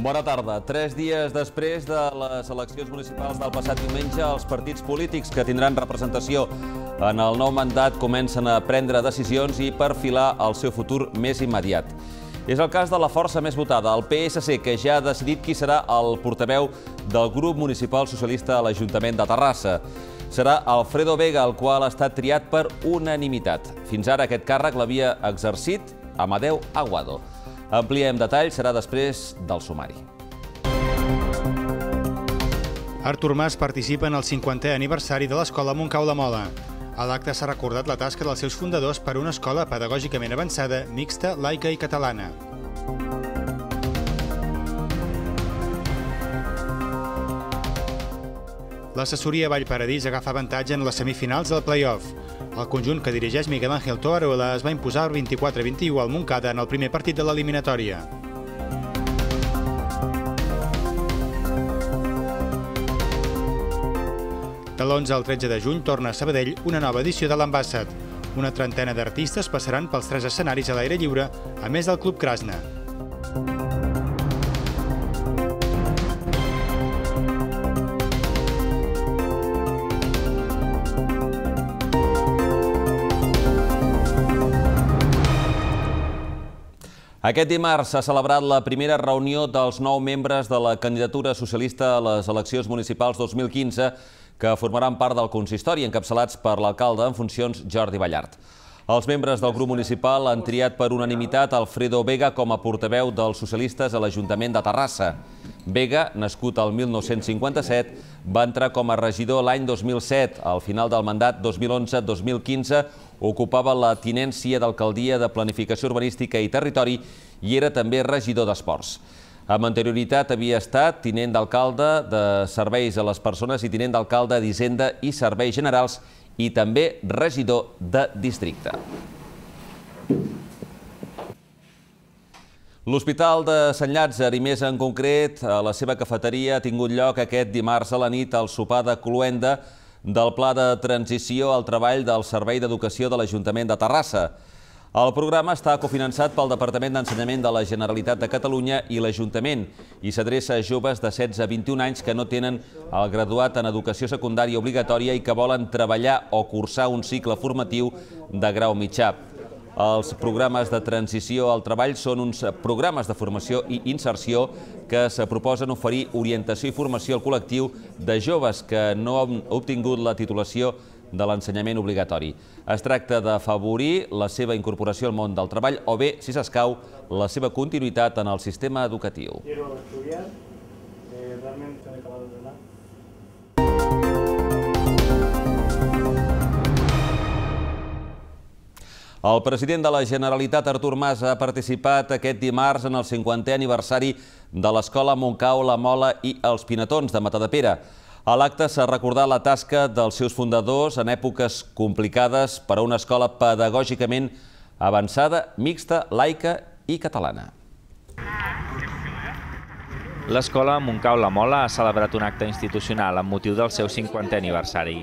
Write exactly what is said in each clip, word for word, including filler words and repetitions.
Bona tarda. Tres dies després de les eleccions municipals del passat diumenge, els partits polítics que tindran representació en el nou mandat comencen a prendre decisions i perfilar el seu futur més immediat. És el cas de la força més votada, el P S C, que ja ha decidit qui serà el portaveu del grup municipal socialista a l'Ajuntament de Terrassa. Serà Alfredo Vega, el qual ha estat triat per unanimitat. Fins ara aquest càrrec l'havia exercit Amadeu Aguado. Ampliem detalls, serà després del sumari. Artur Mas participa en el cinquantè aniversari de l'Escola Montcau La Mola. A l'acte s'ha recordat la tasca dels seus fundadors per una escola pedagògicament avançada, mixta, laica i catalana. L'assessoria Vallparadís agafa avantatge en les semifinals del play-off. El conjunt que dirigeix Miguel Ángel Toarola es va imposar vint-i-quatre a vint-i-u al Montcada en el primer partit de l'eliminatòria. De l'onze al tretze de juny torna a Sabadell una nova edició de l'Ambassad. Una trentena d'artistes passaran pels tres escenaris a l'aire lliure, a més del Club Krasna. Aquest dimarts s'ha celebrat la primera reunió dels nou membres de la candidatura socialista a les eleccions municipals dos mil quinze que formaran part del consistori, encapçalats per l'alcalde en funcions Jordi Ballart. Els membres del grup municipal han triat per unanimitat Alfredo Vega com a portaveu dels socialistes a l'Ajuntament de Terrassa. Vega, nascut al mil nou-cents cinquanta-set, va entrar com a regidor l'any dos mil set. Al final del mandat dos mil onze dos mil quinze ocupava la tinència d'alcaldia de Planificació Urbanística i Territori i era també regidor d'Esports. Amb anterioritat havia estat tinent d'alcalde de Serveis a les Persones i tinent d'alcalde d'Hisenda i Serveis Generals i també regidor de districte. L'Hospital de Sant Llàtzer, i més en concret, a la seva cafeteria, ha tingut lloc aquest dimarts a la nit el sopar de cloenda del Pla de Transició al Treball del Servei d'Educació de l'Ajuntament de Terrassa. El programa està cofinançat pel Departament d'Ensenyament de la Generalitat de Catalunya i l'Ajuntament i s'adreça a joves de setze a vint-i-un anys que no tenen el graduat en educació secundària obligatòria i que volen treballar o cursar un cicle formatiu de grau mitjà. Els programes de transició al treball són uns programes de formació i inserció que se proposen oferir orientació i formació al col·lectiu de joves que no han obtingut la titulació de l'ensenyament obligatori. Es tracta d'afavorir la seva incorporació al món del treball o bé, si s'escau, la seva continuïtat en el sistema educatiu. El president de la Generalitat, Artur Mas, ha participat aquest dimarts en el cinquantè aniversari de l'Escola Montcau La Mola i els Pinatons de Matadepera. A l'acte s'ha recordat la tasca dels seus fundadors en èpoques complicades per a una escola pedagògicament avançada, mixta, laica i catalana. L'Escola Montcau La Mola ha celebrat un acte institucional amb motiu del seu cinquantè aniversari.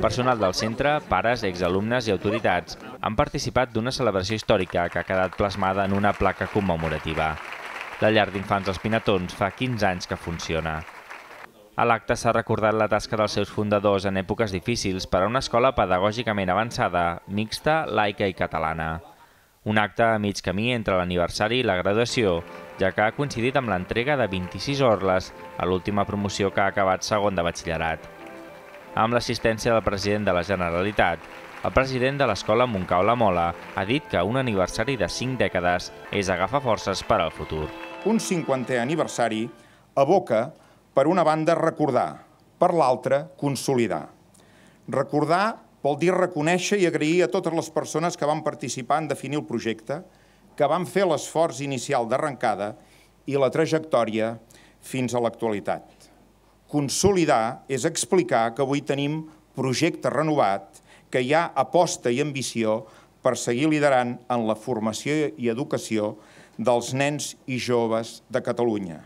Personal del centre, pares, exalumnes i autoritats han participat d'una celebració històrica que ha quedat plasmada en una placa commemorativa. La llar d'infants dels Pinatons fa quinze anys que funciona. A l'acte s'ha recordat la tasca dels seus fundadors en èpoques difícils per a una escola pedagògicament avançada, mixta, laica i catalana. Un acte a mig camí entre l'aniversari i la graduació, ja que ha coincidit amb l'entrega de vint-i-sis orles a l'última promoció que ha acabat segon de batxillerat. Amb l'assistència del president de la Generalitat, el president de l'Escola Montcau La Mola ha dit que un aniversari de cinc dècades és agafar forces per al futur. Un cinquantè aniversari evoca, per una banda, recordar, per l'altra, consolidar. Recordar vol dir reconèixer i agrair a totes les persones que van participar en definir el projecte, que van fer l'esforç inicial d'arrencada i la trajectòria fins a l'actualitat. Consolidar és explicar que avui tenim projecte renovat, que hi ha aposta i ambició per seguir liderant en la formació i educació dels nens i joves de Catalunya.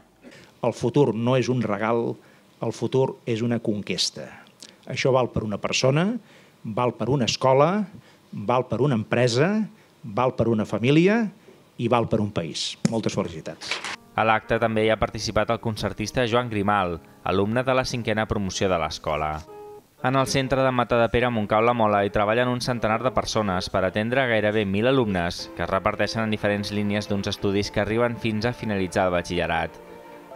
El futur no és un regal, el futur és una conquesta. Això val per una persona, val per una escola, val per una empresa, val per una família i val per un país. Moltes felicitats. A l'acte també hi ha participat el concertista Joan Grimal, alumne de la cinquena promoció de l'escola. En el centre de Matadepera, Montcau la Mola, hi treballen un centenar de persones per atendre gairebé mil alumnes que es reparteixen en diferents línies d'uns estudis que arriben fins a finalitzar el batxillerat.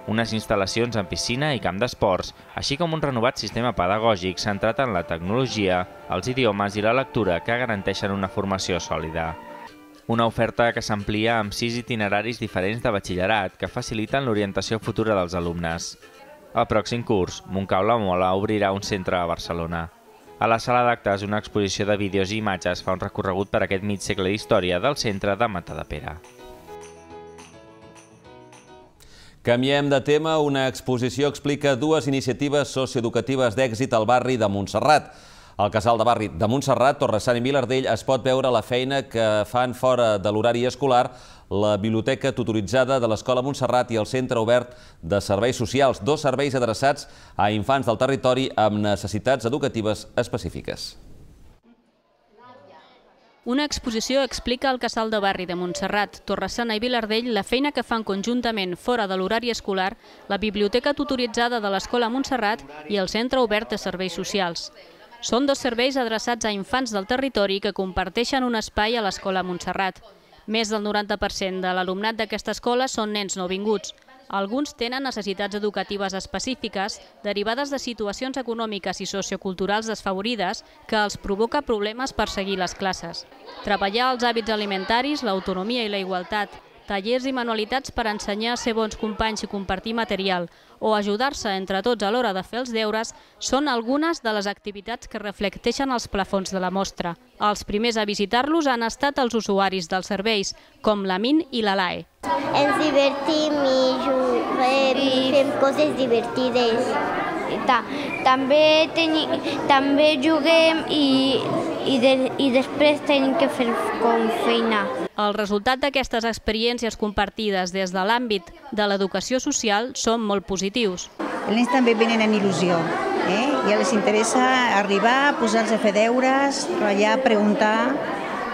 Unes instal·lacions amb piscina i camp d'esports, així com un renovat sistema pedagògic centrat en la tecnologia, els idiomes i la lectura que garanteixen una formació sòlida. Una oferta que s'amplia amb sis itineraris diferents de batxillerat que faciliten l'orientació futura dels alumnes. El pròxim curs, Montcau la Mola obrirà un centre a Barcelona. A la sala d'actes, una exposició de vídeos i imatges fa un recorregut per aquest mig segle d'història del centre de Matadepera. Canviem de tema. Una exposició explica dues iniciatives socioeducatives d'èxit al barri de Montserrat. Al casal de barri de Montserrat, Torre-sant i Vilardell, es pot veure la feina que fan fora de l'horari escolar la biblioteca tutoritzada de l'Escola Montserrat i el Centre Obert de Serveis Socials, dos serveis adreçats a infants del territori amb necessitats educatives específiques. Una exposició explica al casal de barri de Montserrat, Torre-sant i Vilardell la feina que fan conjuntament fora de l'horari escolar la biblioteca tutoritzada de l'Escola Montserrat i el Centre Obert de Serveis Socials. Són dos serveis adreçats a infants del territori que comparteixen un espai a l'Escola Montserrat. Més del noranta per cent de l'alumnat d'aquesta escola són nens nouvinguts. Alguns tenen necessitats educatives específiques derivades de situacions econòmiques i socioculturals desfavorides que els provoca problemes per seguir les classes. Treballar els hàbits alimentaris, l'autonomia i la igualtat, tallers i manualitats per ensenyar a ser bons companys i compartir material o ajudar-se entre tots a l'hora de fer els deures són algunes de les activitats que reflecteixen els plafons de la mostra. Els primers a visitar-los han estat els usuaris dels serveis, com l'Amin i la Lae. Ens divertim i juguem i fem coses divertides. També, teni, també juguem i, i, de, i després tenim que fer com feina. El resultat d'aquestes experiències compartides des de l'àmbit de l'educació social són molt positius. Els nens també venen amb il·lusió, eh? I els interessa arribar, posar-se a fer deures, ratllar, preguntar,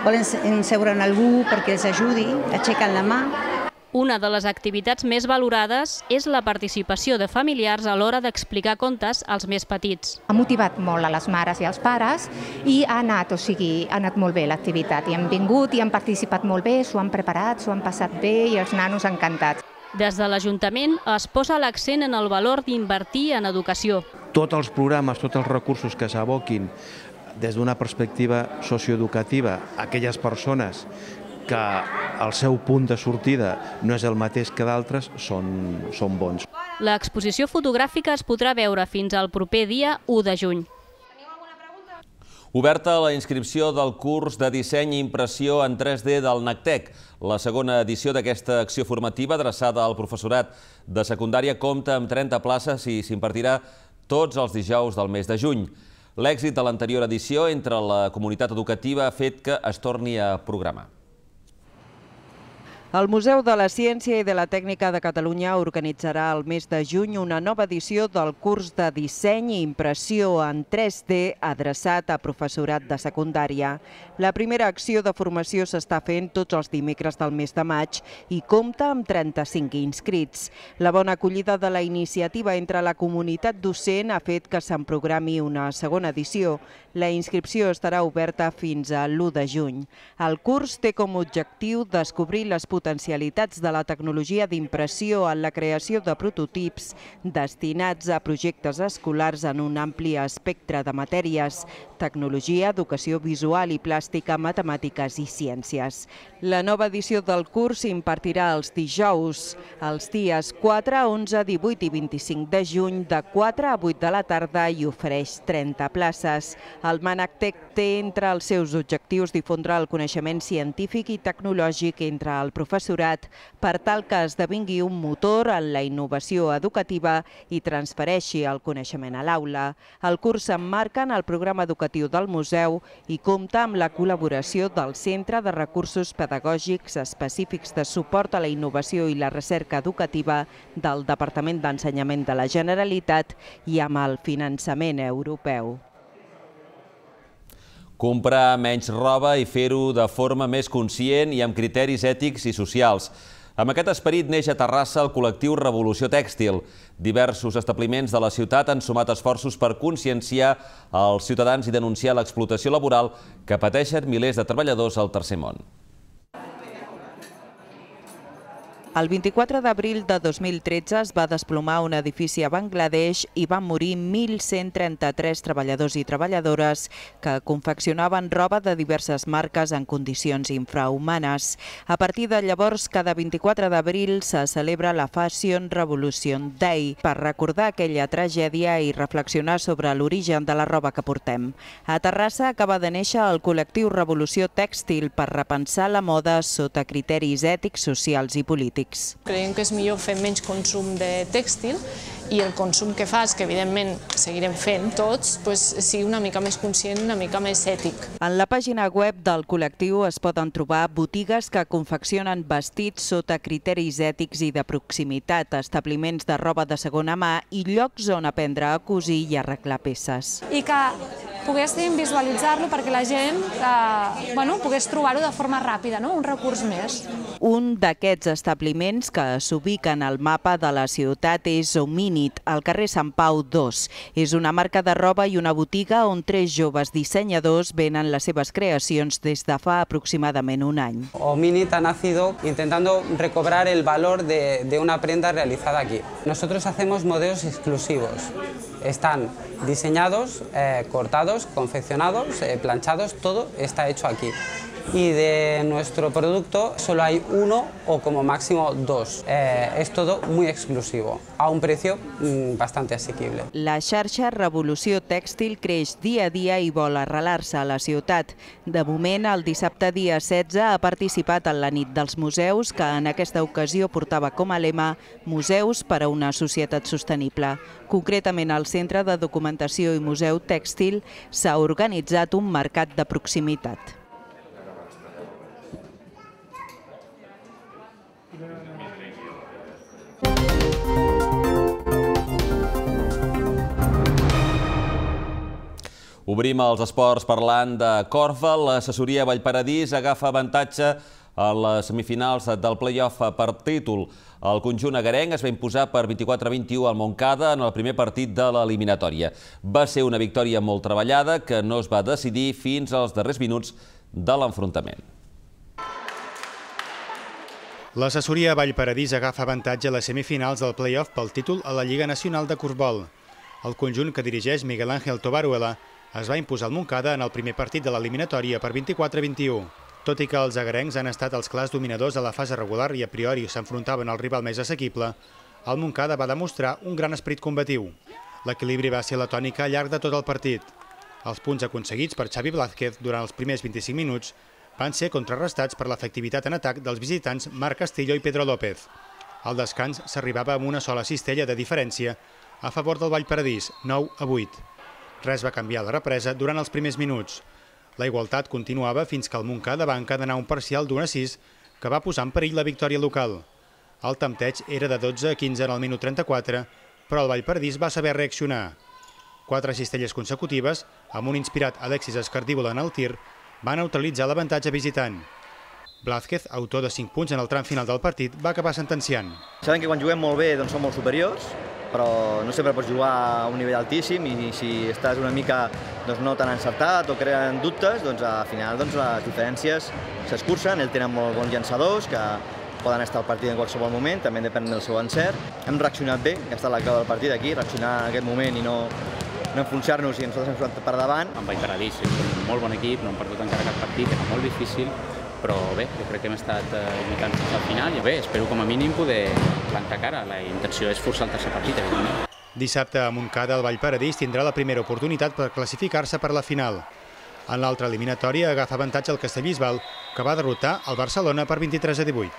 volen seure en algú perquè els ajudi, aixequen la mà. Una de les activitats més valorades és la participació de familiars a l'hora d'explicar contes als més petits. Ha motivat molt a les mares i als pares i ha anat, o sigui, ha anat molt bé l'activitat. I han vingut i han participat molt bé, s'ho han preparat, s'ho han passat bé i els nanos encantats. Des de l'Ajuntament es posa l'accent en el valor d'invertir en educació. Tots els programes, tots els recursos que s'aboquin des d'una perspectiva socioeducativa a aquelles persones que el seu punt de sortida no és el mateix que d'altres, són, són bons. L'exposició fotogràfica es podrà veure fins al proper dia u de juny. Oberta la inscripció del curs de disseny i impressió en tres D del NACTEC. La segona edició d'aquesta acció formativa adreçada al professorat de secundària compta amb trenta places i s'impartirà tots els dijous del mes de juny. L'èxit de l'anterior edició entre la comunitat educativa ha fet que es torni a programar. El Museu de la Ciència i de la Tècnica de Catalunya organitzarà el mes de juny una nova edició del curs de disseny i impressió en tres D adreçat a professorat de secundària. La primera acció de formació s'està fent tots els dimecres del mes de maig i compta amb trenta-cinc inscrits. La bona acollida de la iniciativa entre la comunitat docent ha fet que se'n programi una segona edició. La inscripció estarà oberta fins a l'u de juny. El curs té com a objectiu descobrir les potencialitats de la tecnologia d'impressió en la creació de prototips destinats a projectes escolars en un ampli espectre de matèries: tecnologia, educació visual i plàstica, matemàtiques i ciències. La nova edició del curs s'impartirà els dijous, els dies quatre, onze, divuit i vint-i-cinc de juny, de quatre a vuit de la tarda i ofereix trenta places. El MANACTEC té entre els seus objectius difondre el coneixement científic i tecnològic entre el professorat per tal que esdevingui un motor en la innovació educativa i transfereixi el coneixement a l'aula. El curs s'emmarca en el programa educatiu del museu i compta amb la col·laboració del Centre de Recursos Pedagògics Específics de Suport a la Innovació i la Recerca Educativa del Departament d'Ensenyament de la Generalitat i amb el finançament europeu. Comprar menys roba i fer-ho de forma més conscient i amb criteris ètics i socials. Amb aquest esperit neix a Terrassa el col·lectiu Revolució Tèxtil. Diversos establiments de la ciutat han sumat esforços per conscienciar els ciutadans i denunciar l'explotació laboral que pateixen milers de treballadors al tercer món. El vint-i-quatre d'abril de dos mil tretze es va desplomar un edifici a Bangladesh i van morir mil cent trenta-tres treballadors i treballadores que confeccionaven roba de diverses marques en condicions infrahumanes. A partir de llavors, cada vint-i-quatre d'abril se celebra la Fashion Revolution Day per recordar aquella tragèdia i reflexionar sobre l'origen de la roba que portem. A Terrassa acaba de néixer el col·lectiu Revolució Tèxtil per repensar la moda sota criteris ètics, socials i polítics. Creiem que és millor fer menys consum de tèxtil i el consum que fas, que evidentment seguirem fent tots, sigui una mica més conscient, una mica més ètic. En la pàgina web del col·lectiu es poden trobar botigues que confeccionen vestits sota criteris ètics i de proximitat, establiments de roba de segona mà i llocs on aprendre a cosir i arreglar peces. I que poguéssim visualitzar-lo perquè la gent pogués trobar-ho de forma ràpida, un recurs més. Un d'aquests establiments que s'ubiquen al mapa de la ciutat és Hominid, al carrer Sant Pau dos. És una marca de roba i una botiga on tres joves dissenyadors venen les seves creacions des de fa aproximadament un any. Hominid ha nacido intentando recobrar el valor de, de una prenda realizada aquí. Nosotros hacemos modelos exclusivos. Están diseñados, eh, cortados, confeccionados, eh, planchados, todo está hecho aquí. Y de nuestro producto solo hay uno o como máximo dos. Eh, es todo muy exclusivo, a un precio mm, bastante asequible. La xarxa Revolució Tèxtil creix dia a dia i vol arrelar-se a la ciutat. De moment, el dissabte dia setze ha participat en la nit dels museus, que en aquesta ocasió portava com a lema Museus per a una societat sostenible. Concretament, al Centre de Documentació i Museu Tèxtil s'ha organitzat un mercat de proximitat. Obrim els esports parlant de Korfball. L'assessoria Vallparadís agafa avantatge a les semifinals del play-off per títol. El conjunt agarenc es va imposar per vint-i-quatre a vint-i-u al Montcada en el primer partit de l'eliminatòria. Va ser una victòria molt treballada que no es va decidir fins als darrers minuts de l'enfrontament. L'assessoria Vallparadís agafa avantatge a les semifinals del play-off pel títol a la Lliga Nacional de Korfball. El conjunt que dirigeix Miguel Ángel Tobaruela es va imposar al Montcada en el primer partit de l'eliminatòria per vint-i-quatre a vint-i-u. Tot i que els agarencs han estat els clars dominadors a la fase regular i a priori s'enfrontaven al rival més assequible, el Montcada va demostrar un gran esperit combatiu. L'equilibri va ser la tònica al llarg de tot el partit. Els punts aconseguits per Xavi Blázquez durant els primers vint-i-cinc minuts van ser contrarrestats per l'efectivitat en atac dels visitants Marc Castillo i Pedro López. Al descans s'arribava amb una sola cistella de diferència a favor del Vallparadís, nou a vuit. Res va canviar a la represa durant els primers minuts. La igualtat continuava fins que el Montcada va encadenar un parcial d'un a sis que va posar en perill la victòria local. El tempteig era de dotze a quinze en el minut trenta-quatre, però el Vallparadís va saber reaccionar. Quatre cistelles consecutives, amb un inspirat Alexis Escardívola en el tir, va neutralitzar l'avantatge visitant. Blázquez, autor de cinc punts en el tram final del partit, va acabar sentenciant. Sabem que quan juguem molt bé doncs som molt superiors, però no sempre pots jugar a un nivell altíssim i si estàs una mica doncs, no tan encertat o creen dubtes, doncs al final doncs, les diferències s'escurcen. Ells tenen molt bons llançadors que poden estar al partit en qualsevol moment, també depèn del seu encert. Hem reaccionat bé, que ha estat la clau del partit aquí, reaccionar en aquest moment i no, no enfonsar-nos i nosaltres hem sortit per davant. En Vallparadís és un molt bon equip, no hem perdut encara cap partit, era molt difícil, però bé, jo crec que hem estat lluitant fins al final i bé, espero com a mínim poder plantar cara. La intenció és forçar el tercer partit, evidentment. Dissabte a Montcada el Vallparadís tindrà la primera oportunitat per classificar-se per la final. En l'altra eliminatòria agafa avantatge el Castellbisbal, que va derrotar el Barcelona per vint-i-tres a divuit.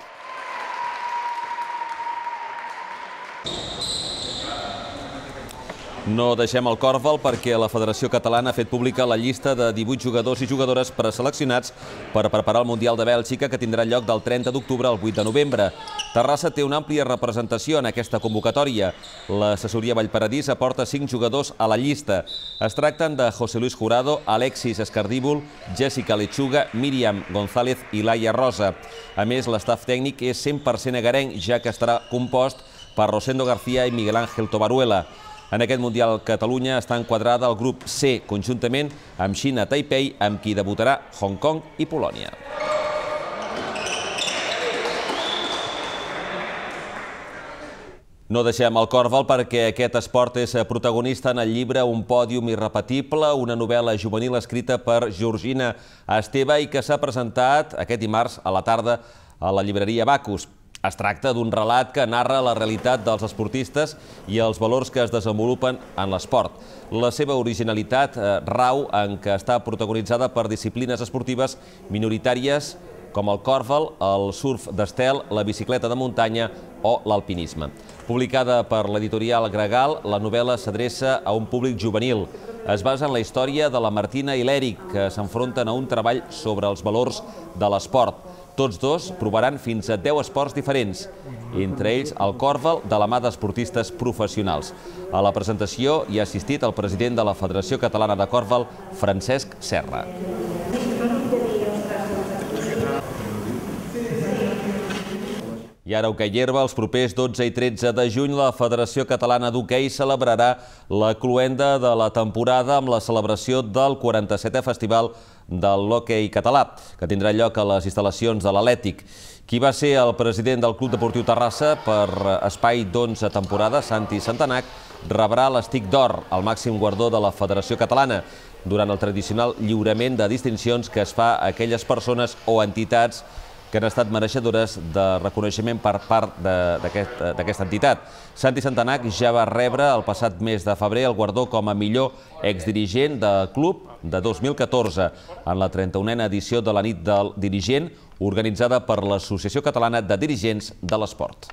No deixem el còrbol perquè la Federació Catalana ha fet pública la llista de divuit jugadors i jugadores preseleccionats per preparar el Mundial de Bèlgica, que tindrà lloc del trenta d'octubre al vuit de novembre. Terrassa té una àmplia representació en aquesta convocatòria. L'assessoria Vallparadís aporta cinc jugadors a la llista. Es tracten de José Luis Jurado, Alexis Escardíbol, Jessica Lechuga, Míriam González i Laia Rosa. A més, l'estaf tècnic és cent per cent agarenc, ja que estarà compost per Rosendo García i Miguel Ángel Tobaruela. En aquest Mundial, Catalunya està enquadrada al grup C, conjuntament amb Xina Taipei, amb qui debutarà Hong Kong i Polònia. No deixem el còrbol perquè aquest esport és protagonista en el llibre Un pòdium irrepetible, una novel·la juvenil escrita per Georgina Esteve i que s'ha presentat aquest dimarts a la tarda a la llibreria Bacus. Es tracta d'un relat que narra la realitat dels esportistes i els valors que es desenvolupen en l'esport. La seva originalitat rau en què està protagonitzada per disciplines esportives minoritàries com el còrbol, el surf d'estel, la bicicleta de muntanya o l'alpinisme. Publicada per l'editorial Gregal, la novel·la s'adreça a un públic juvenil. Es basa en la història de la Martina i l'Eric, que s'enfronten a un treball sobre els valors de l'esport. Tots dos provaran fins a deu esports diferents, entre ells el còrbol de la mà d'esportistes professionals. A la presentació hi ha assistit el president de la Federació Catalana de Còrbol, Francesc Serra. I ara hoquei herba, els propers dotze i tretze de juny, la Federació Catalana d'Hoquei celebrarà la cloenda de la temporada amb la celebració del quaranta-setè Festival de l'Hoquei Català, que tindrà lloc a les instal·lacions de l'Atlètic. Qui va ser el president del Club Deportiu Terrassa per espai d'onze temporades, Santi Santanac, rebrà l'Estic d'Or, el màxim guardó de la Federació Catalana, durant el tradicional lliurament de distincions que es fa a aquelles persones o entitats que han estat mereixedores de reconeixement per part d'aquesta entitat. Santi Santanac ja va rebre el passat mes de febrer el guardó com a millor exdirigent del club de dos mil catorze, en la trenta-unena edició de la nit del dirigent, organitzada per l'Associació Catalana de Dirigents de l'Esport.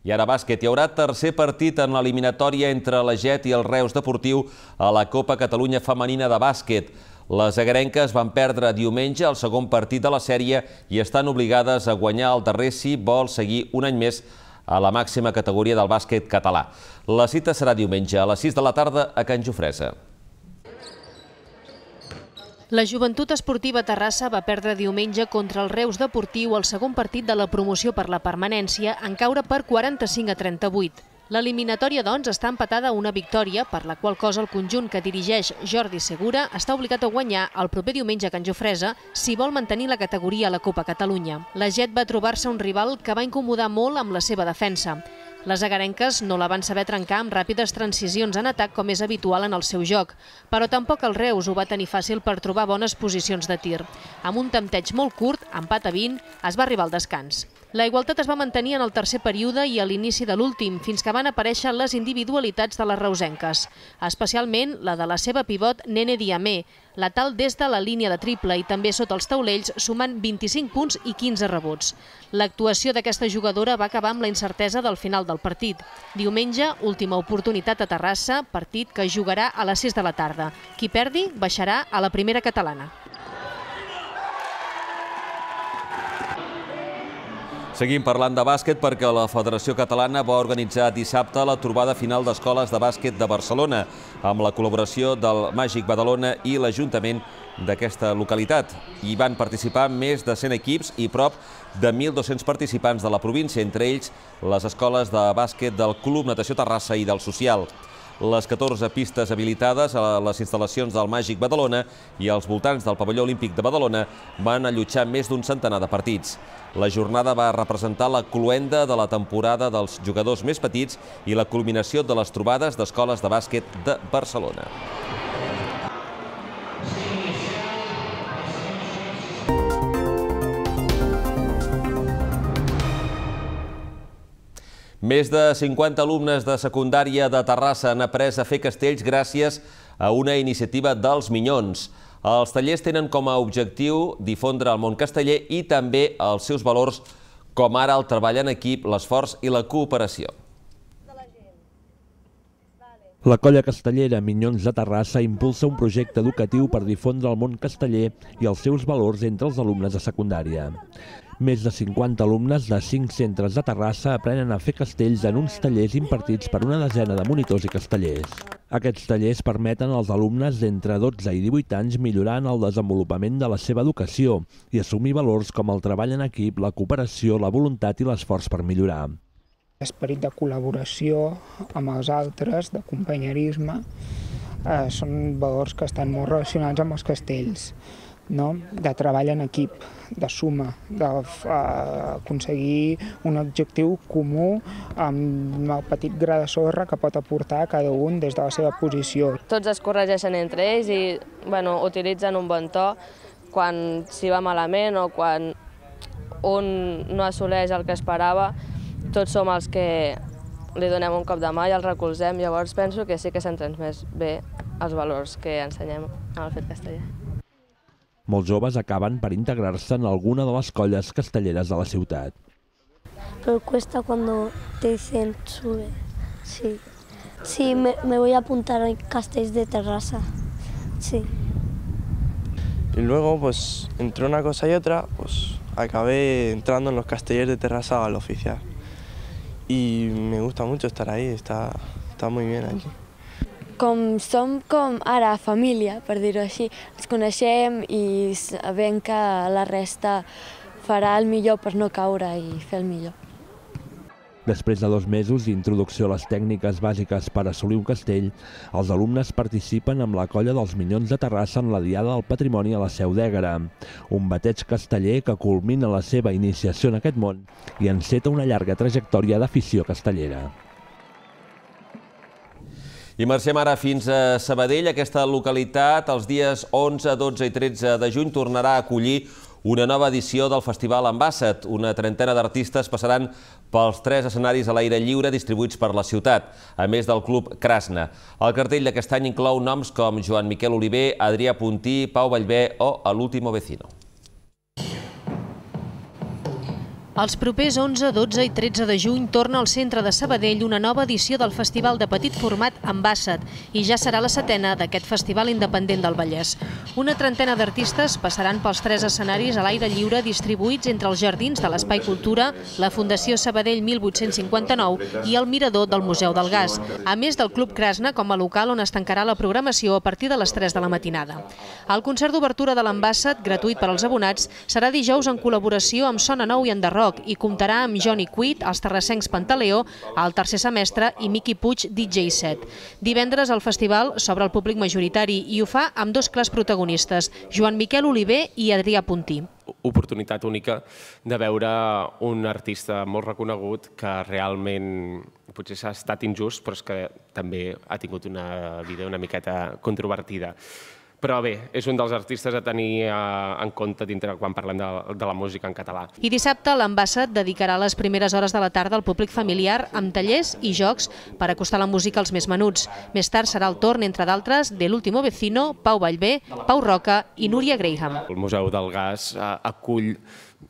I ara bàsquet. Hi haurà tercer partit en l'eliminatòria entre la Jet i el Reus Deportiu a la Copa Catalunya Femenina de Bàsquet. Les agarenques van perdre diumenge el segon partit de la sèrie i estan obligades a guanyar el darrer si vol seguir un any més a la màxima categoria del bàsquet català. La cita serà diumenge a les sis de la tarda a Can Jofresa. La Joventut Esportiva Terrassa va perdre diumenge contra el Reus Deportiu el segon partit de la promoció per la permanència en caure per quaranta-cinc a trenta-vuit. L'eliminatòria, doncs, està empatada a una victòria, per la qual cosa el conjunt que dirigeix Jordi Segura està obligat a guanyar el proper diumenge a Can Jofresa si vol mantenir la categoria a la Copa Catalunya. La Jet va trobar-se un rival que va incomodar molt amb la seva defensa. Les agarenques no la van saber trencar amb ràpides transicions en atac com és habitual en el seu joc, però tampoc el Reus ho va tenir fàcil per trobar bones posicions de tir. Amb un tempteig molt curt, empat a vint, es va arribar al descans. La igualtat es va mantenir en el tercer període i a l'inici de l'últim, fins que van aparèixer les individualitats de les reusenques, especialment la de la seva pivot Nene Diamé, letal des de la línia de triple i també sota els taulells, sumant vint-i-cinc punts i quinze rebots. L'actuació d'aquesta jugadora va acabar amb la incertesa del final del partit. Diumenge, última oportunitat a Terrassa, partit que jugarà a les sis de la tarda. Qui perdi baixarà a la primera catalana. Seguim parlant de bàsquet perquè la Federació Catalana va organitzar dissabte la trobada final d'escoles de bàsquet de Barcelona amb la col·laboració del Màgic Badalona i l'Ajuntament d'aquesta localitat. Hi van participar més de cent equips i prop de mil dos-cents participants de la província, entre ells les escoles de bàsquet del Club Natació Terrassa i del Social. Les catorze pistes habilitades a les instal·lacions del Màgic Badalona i als voltants del pavelló olímpic de Badalona van allotjar més d'un centenar de partits. La jornada va representar la cloenda de la temporada dels jugadors més petits i la culminació de les trobades d'escoles de bàsquet de Barcelona. Més de cinquanta alumnes de secundària de Terrassa han après a fer castells gràcies a una iniciativa dels Minyons. Els tallers tenen com a objectiu difondre el món casteller i també els seus valors com ara el treball en equip, l'esforç i la cooperació. La colla castellera Minyons de Terrassa impulsa un projecte educatiu per difondre el món casteller i els seus valors entre els alumnes de secundària. Més de cinquanta alumnes de cinc centres de Terrassa aprenen a fer castells en uns tallers impartits per una desena de monitors i castellers. Aquests tallers permeten als alumnes d'entre dotze i divuit anys millorar en el desenvolupament de la seva educació i assumir valors com el treball en equip, la cooperació, la voluntat i l'esforç per millorar. L'esperit de col·laboració amb els altres, de companyerisme, eh, són valors que estan molt relacionats amb els castells, no? De treball en equip, de suma, d'aconseguir un objectiu comú amb el petit gra de sorra que pot aportar cada un des de la seva posició. Tots es corregeixen entre ells i bueno, utilitzen un bon to quan s'hi va malament o quan un no assoleix el que esperava. Tots som els que li donem un cop de mà i els recolzem, llavors penso que sí que s'han transmès bé els valors que ensenyem al fet casteller. Molts joves acaben per integrar-se en alguna de les colles castelleres de la ciutat. Pero cuesta cuando te dicen sube, sí. Sí, me, me voy a apuntar a castells de Terrassa, sí. Y luego, pues, entre una cosa y otra, pues, acabé entrando en los castellers de Terrassa al oficial. Y me gusta mucho estar ahí, está, está muy bien aquí. Com som com ara família, per dir-ho així, ens coneixem i sabem que la resta farà el millor per no caure i fer el millor. Després de dos mesos d'introducció a les tècniques bàsiques per assolir un castell, els alumnes participen amb la colla dels Minyons de Terrassa en la Diada del Patrimoni a la Seu d'Ègara, un bateig casteller que culmina la seva iniciació en aquest món i enceta una llarga trajectòria d'afició castellera. I marxem ara fins a Sabadell. Aquesta localitat, els dies onze, dotze i tretze de juny, tornarà a acollir una nova edició del Festival Ambassador. Una trentena d'artistes passaran pels tres escenaris a l'aire lliure distribuïts per la ciutat, a més del Club Krasna. El cartell d'aquest any inclou noms com Joan Miquel Oliver, Adrià Puntí, Pau Vallvé o El último vecino. Els propers onze, dotze i tretze de juny torna al centre de Sabadell una nova edició del festival de petit format Ambassador i ja serà la setena d'aquest festival independent del Vallès. Una trentena d'artistes passaran pels tres escenaris a l'aire lliure distribuïts entre els jardins de l'Espai Cultura, la Fundació Sabadell mil vuit-cents cinquanta-nou i el Mirador del Museu del Gas, a més del Club Krasna com a local on es tancarà la programació a partir de les tres de la matinada. El concert d'obertura de l'Ambassador, gratuït per als abonats, serà dijous en col·laboració amb Sona Nou i Enderroc i comptarà amb Johnny Quid, els terrassencs Pantaleó, el tercer semestre i Miqui Puig, D J set. Divendres el festival s'obre al públic majoritari i ho fa amb dos clars protagonistes, Joan Miquel Oliver i Adrià Puntí. Oportunitat única de veure un artista molt reconegut que realment potser s'ha estat injust, però és que també ha tingut una vida una miqueta controvertida. Però bé, és un dels artistes a tenir en compte dintre quan parlem de la música en català. I dissabte l'Ambassador dedicarà les primeres hores de la tarda al públic familiar amb tallers i jocs per acostar la música als més menuts. Més tard serà el torn, entre d'altres, de l'último vecino, Pau Vallvé, Pau Roca i Núria Graham. El Museu del Gas acull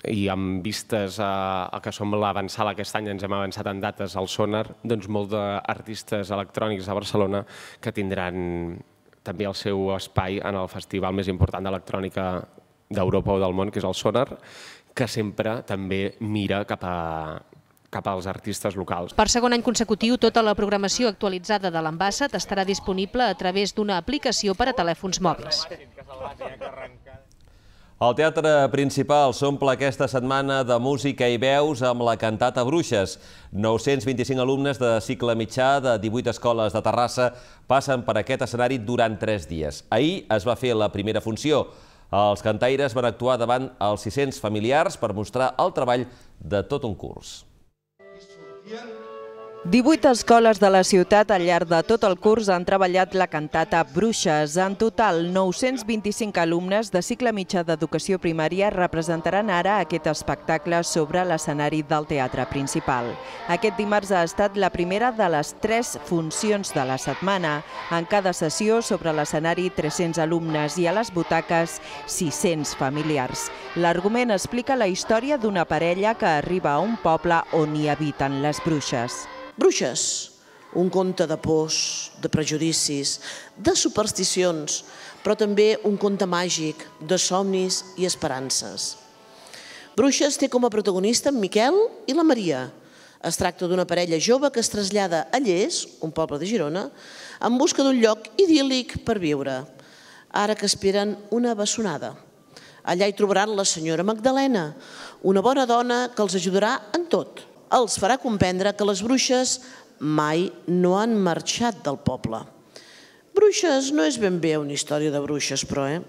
i amb vistes a que som l'avançada aquest any, ens hem avançat en dates al Sonar, doncs molts d'artistes electrònics a Barcelona que tindran també el seu espai en el festival més important d'electrònica d'Europa o del món, que és el Sonar, que sempre també mira cap a cap als artistes locals. Per segon any consecutiu, tota la programació actualitzada de l'Ambassador estarà disponible a través d'una aplicació per a telèfons mòbils. El Teatre Principal s'omple aquesta setmana de música i veus amb la cantata Bruixes. nou-cents vint-i-cinc alumnes de cicle mitjà de divuit escoles de Terrassa passen per aquest escenari durant tres dies. Ahir es va fer la primera funció. Els cantaires van actuar davant els sis-cents familiars per mostrar el treball de tot un curs. divuit escoles de la ciutat al llarg de tot el curs han treballat la cantata Bruixes. En total, nou-cents vint-i-cinc alumnes de cicle mitjà d'educació primària representaran ara aquest espectacle sobre l'escenari del teatre principal. Aquest dimarts ha estat la primera de les tres funcions de la setmana. En cada sessió, sobre l'escenari, tres-cents alumnes i a les butaques, sis-cents familiars. L'argument explica la història d'una parella que arriba a un poble on hi habiten les bruixes. Bruixes, un conte de pors, de prejudicis, de supersticions, però també un conte màgic de somnis i esperances. Bruixes té com a protagonista en Miquel i la Maria. Es tracta d'una parella jove que es trasllada a Lles, un poble de Girona, en busca d'un lloc idíl·lic per viure, ara que esperen una bessonada. Allà hi trobaran la senyora Magdalena, una bona dona que els ajudarà en tot. Els farà comprendre que les bruixes mai no han marxat del poble. Bruixes no és ben bé una història de bruixes, però, eh?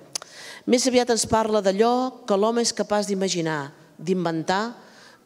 Més aviat ens parla d'allò que l'home és capaç d'imaginar, d'inventar,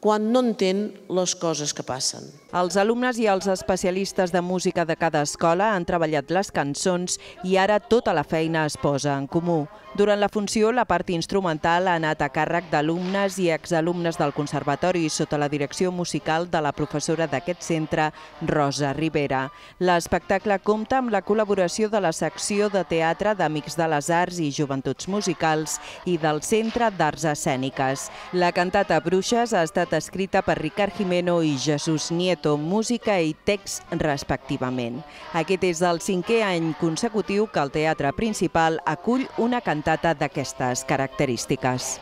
quan no entén les coses que passen. Els alumnes i els especialistes de música de cada escola han treballat les cançons i ara tota la feina es posa en comú. Durant la funció, la part instrumental ha anat a càrrec d'alumnes i exalumnes del Conservatori sota la direcció musical de la professora d'aquest centre, Rosa Rivera. L'espectacle compta amb la col·laboració de la secció de teatre d'Amics de les Arts i Joventuts Musicals i del Centre d'Arts Escèniques. La cantata Bruixes ha estat escrita per Ricard Jimeno i Jesús Nieto, música i text respectivament. Aquest és el cinquè any consecutiu que el teatre principal acull una cantata d'aquestes característiques.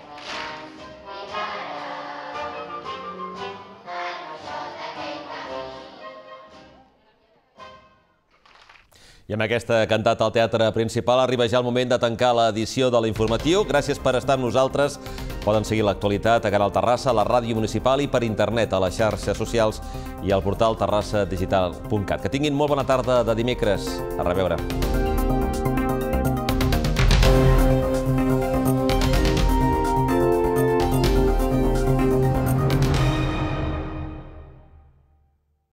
I amb aquesta cantata al teatre principal arriba ja el moment de tancar l'edició de l'Informatiu. Gràcies per estar amb nosaltres. Poden seguir l'actualitat a Canal Terrassa, a la ràdio municipal i per internet, a les xarxes socials i al portal terrassa digital punt cat. Que tinguin molt bona tarda de dimecres. A reveure.